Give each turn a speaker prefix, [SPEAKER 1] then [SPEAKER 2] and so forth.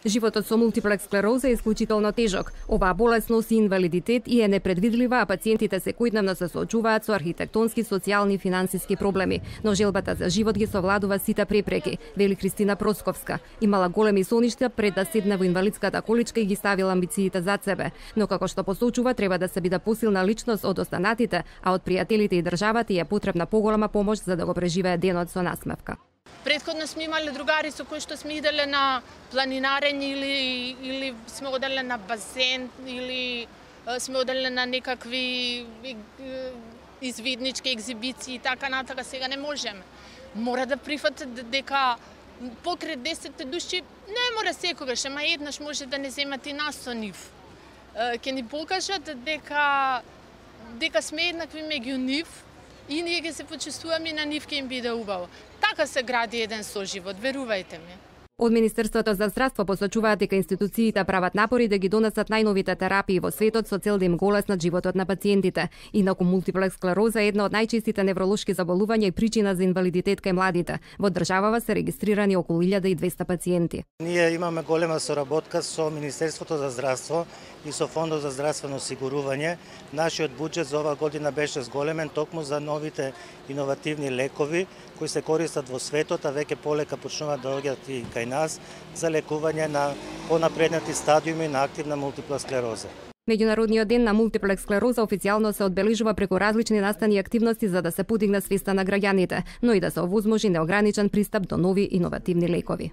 [SPEAKER 1] Животот со мултиплекс склероза е исклучително тежок. Оваа болест носи инвалидитет и е непредвидлива, а пациентите секојдневно се соочуваат со архитектонски, социјални и финансиски проблеми. Но желбата за живот ги совладува сите препреки, вели Христина Просковска. Имала големи соништа пред да седне во инвалидската количка и ги ставила амбициите зад себе. Но како што посочува, треба да се биде посилна личност од останатите, а од пријателите и државата е потребна поголема помош за да го преживее денот со насмевка.
[SPEAKER 2] Предходно сме имали другари со кои што сме иделе на планинарење или сме оделе на базен или сме оделе на некакви извиднички екзибиции и така натака. Сега не можеме. Мора да прифатат дека покрај 10 души не мора секогаш, ама еднаш може да не земат и нас со нив. Ќе ни покажат дека сме еднакви меѓу нив и ние ќе се почувствуваме и на нив ќе им биде убаво. Така се гради еден соживот, верувајте ми.
[SPEAKER 1] Од Министерството за здравство посочуваат дека институциите прават напори да ги донесат најновите терапии во светот со цел да им го олеснат животот на пациентите. Инаку мултиплекс склероза е една од најчестите невролошки заболувања и причина за инвалидитет кај младите. Во државава се регистрирани околу 1200 пациенти.
[SPEAKER 3] Ние имаме голема соработка со Министерството за здравство и со Фондот за здравствено осигурување. Нашиот буџет за оваа година беше зголемен токму за новите иновативни лекови кои се користат во светот, а веќе полека почнуваат да доаѓаат и кај нас за лекување на понапреднати стадиуми на активна мултипла склероза.
[SPEAKER 1] Меѓународниот ден на мултиплекс склероза официјално се одбележува преку различни настани и активности за да се подигне свеста на граѓаните, но и да се овозможи неограничен пристап до нови иновативни лекови.